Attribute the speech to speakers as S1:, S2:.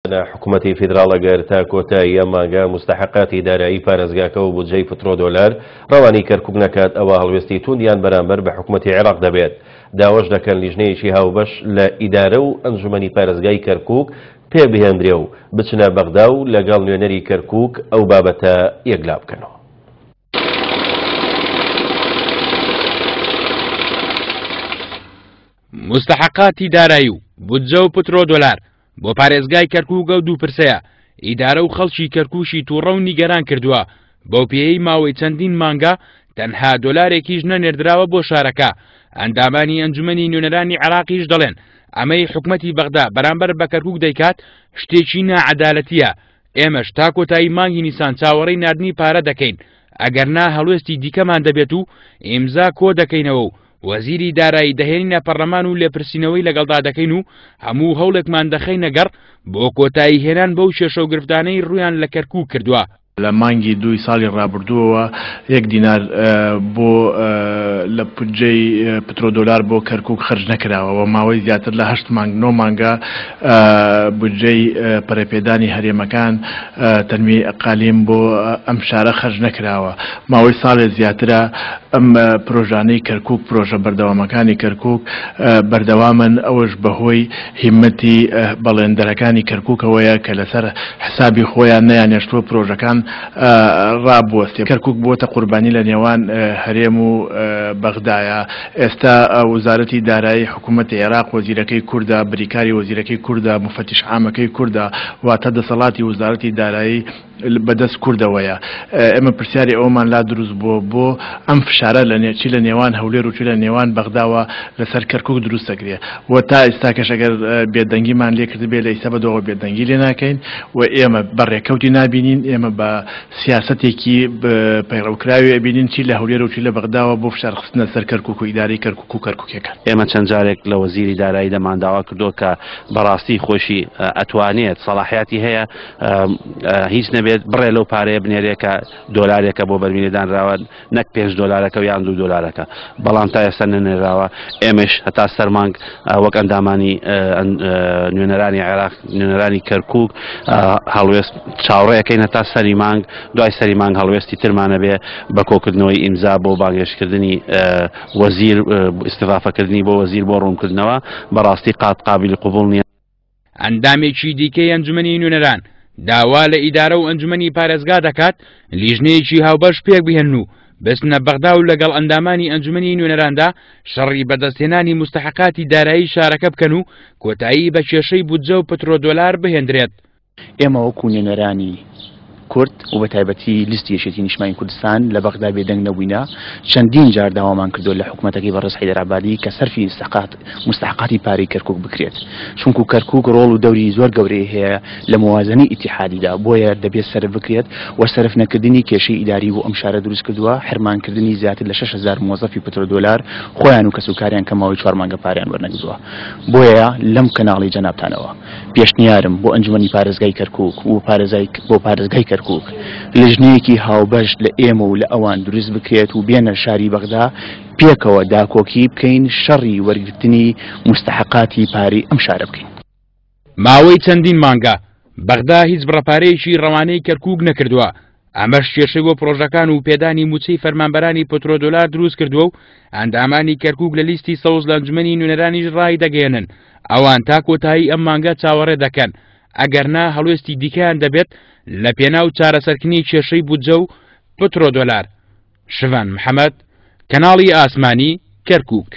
S1: حکومەتی فیدراڵ ئەگەر تا کۆتایی ئەم مانگە موستەحەقاتی دارایی پارێزگاکە و بودجەی پترۆدۆلار ڕەوانەی کەرکوک نەکات ئەوا هەڵوێستی توندیان بەرامبەر بە حکومەتی عێراق دەبێت. داواش دەکەن لیژنەیەکی هاوبەش لە ئیدارە و ئەنجومەنی پارێزگای کەرکوک پێکبهێندرێ و بچنە بەغدا و لەگەڵ نوێنەری کەرکوک ئەو بابەتە یەکلا بکەنەوە.
S2: موستەحەقاتی دارایی و بودجە و پترۆدۆلار بۆ پارێزگای کەرکوک ئەو دوو پرسەیە ئیدارە و خەڵکی کەرکوکی تووڕە و نیگەران کردووە، بەو پێیەی ماوەی چەندین مانگە تەنها دۆلارێکیش نەنێردراوە بۆ شارەکە. ئەندامانی ئەنجومەنی نوێنەرانی عێراقیش دەڵێن ئەمەی حکومەتی بەغدا بەرامبەر بە کەرکوک دەیکات شتێکی ناعەدالەتییە، ئێمەش تا کۆتایی مانگی نیسان چاوەڕێی ناردنی پارە دەکەین، ئەگەرنا هەڵوێستی دیکەمان دەبێت و ئیمزا کۆدەکەینەوە و وەزیری دارایی دەهێنینە پەرلەمان و لێپرسینەوەی لەگەڵدا دەکەین و هەموو هەوڵێکمان دەخەینە گەڕ بۆ کۆتایی هێنان بەو کێشە و گرفتانەی ڕوویان لە کەرکووک کردووە.
S3: لە مانگی دووی ساڵی ڕابردووەوە یەک دینار بۆ لە بودجەی پترۆدۆلار بۆ کەرکووک خەرج نەکراوە و ماوەی زیاتر لە هەشت مانگ نۆ مانگە بودجەی پەرەپێدانی هەرێمەکان تەنمیەی ئەقالیم بۆ ئەم شارە خەرج نەکراوە. ماوەی ساڵێ زیاترە ئەم پرۆژانەی کەرکوک، پرۆژە بەردەوامەکانی کەرکوک بەردەوامن، ئەوەش بەهۆی هیممەتی بەڵێندەرەکانی کەرکوکەوەیە کە لەسەر حسابی خۆیان نەیانێشتووە پرۆژەکان ڕابوەستێ. کەرکوک بووەتە قوربانی لە نێوان هەرێم و بەغدایە. ئێستا وزارەتی دارایی حکوومەتی عێراق وەزیرەکەی کوردە، بریکاری وەزیرەکەی کوردە، موفەتیش عامەکەی کوردە، واتە دەسەڵاتی وزارەتی دارایی بەدەست کوردەوەیە. ئێمە پرسیاری ئەوەمان لا دروست بووە بۆ ئەم فشارە لە چی لە نێوان هەولێر و چی لە نێوان بەغداوە لەسەر کەرکوک دروست دەکرێ و تا ئیستاکەش ئەگەر بێدەنگیمان لێ کردبێ لە ئیستا بەدواوە بێدەنگی لێ ناکەین و ئێمە بە ڕێکەوتی نابینین، ئێمە بە سیاسەتێکی پەیڕەوکراوی ئەبینین چی لە هەولێر و چی لە بەغداوە بۆ فشار خستنە سەر کەرکوک و ئیدارەی کەرکوک و کەرکوکیەکان.
S4: ئێمە چەند جارێک لە وەزیری دارایی دەمان داوا کردووە کە بەڕاستی خۆشی ئەتوانێت سەڵاحیاتی هەیە هیچ نەبێت بڕێ لەو پارەیە بنێرێ کە دۆلارێکە بۆ بەرمیلێ دانراوە نەک 5 دۆلارەکە و یان 2 دۆلارەکە بەڵام تا ئێستا نەنێراوە ئێمەش هەتا سەرمانگ وەک ئەندامانی نوێنەرانی عێراق نوێنەرانی کەرکک هەڵوێست چاوەڕێەکەین هەتا سەری مانگ دوای سەری مانگ هەڵوێستی ترمانە بێ بە کۆکردنەوەی ئیمزا بۆ بانگێشتکردنی وەزیر ئیستضافەکردنی بۆ وەزیر بۆ ڕوونکردنەوە بەڕاستی قات قابلی قبوڵ نییە.
S2: ئەندامێکی دیکەی ئەنجومەنی نوێنەران داوا لە ئیدارە و ئەنجومەنی پارێزگا دەکات لیژنەیەکی هاوبەش پێکبهێنن و بچنە بەغدا و لەگەڵ ئەندامانی ئەنجومەنی نوێنەراندا شەڕی بەدەستهێنانی موستەحەقاتی دارایی شارەکە بکەن و کۆتایی بە کێشەی بودجە و پترۆدۆلار بهێندرێت.
S5: ئێمە وەکو نوێنەرانی کورد و بە تایبەتی لیستی یەکێتی نیشتمانی کوردستان لە بەغدا بێدەنگ نەبووینە، چەندین جار داوامان کردووە لە حکومەتەکەی بەڕێز حەیدەر عەبادی کە سەرفی ئیستحقات موستەحقاتی پارەی کەرکوک بکرێت، چونکو کەرکوک ڕۆڵ و دەوری زۆر گەورەی هەیە لە موازنەی ئیتیحادیدا، بۆیە دەبێت سەرف بکرێت و سەرف نەکردنی کێشەی ئیداری بۆ ئەم شارە دروست کردووە، حرمانکردنی زیاتر لە 6000 مۆزەفی پترۆدۆلار خۆیان و کەسوکاریان کە ماوەی چوار مانگە پارەیان وەرنەگرتووە. بۆیە لەم کەناڵی جەنابتانەوە پێشنیارم بۆ ئەنجومەنی پارێزگای کەرکوک و پارێزای بۆ پارێزگای کەرکوک لیژنەیەکی هاوبەش لە ئێمە و لە ئەوان دروست بکرێت و بێنە شاری بەغدا پێکەوە داکۆکی بکەین شەڕی وەرگرتنی موستەحەقاتی پارەی ئەم شارە بکەین.
S2: ماوەی چەندین مانگە بەغدا هیچ بڕە پارەیەکی ڕەوانەی کەرکوک نەکردووە، ئەمەش کێشەی بۆ پڕۆژەکان و پێدانی مووچەی فەرمانبەرانی پترۆدۆلار دروست کردووە و ئەندامانی کەرکوک لە لیستی سەوز لە ئەنجومەنی نوێنەرانیش ڕایدەگەیەنن ئەوان تا کۆتایی ئەم مانگە چاوەڕێ دەکەن ئەگەرنا هەڵوێستی دیکەیان دەبێت لە پێناو چارەسەرکردنی کێشەی بودجە و پترۆدۆلار. شڤان محەمەد، کەناڵی ئاسمانی، کەرکوک.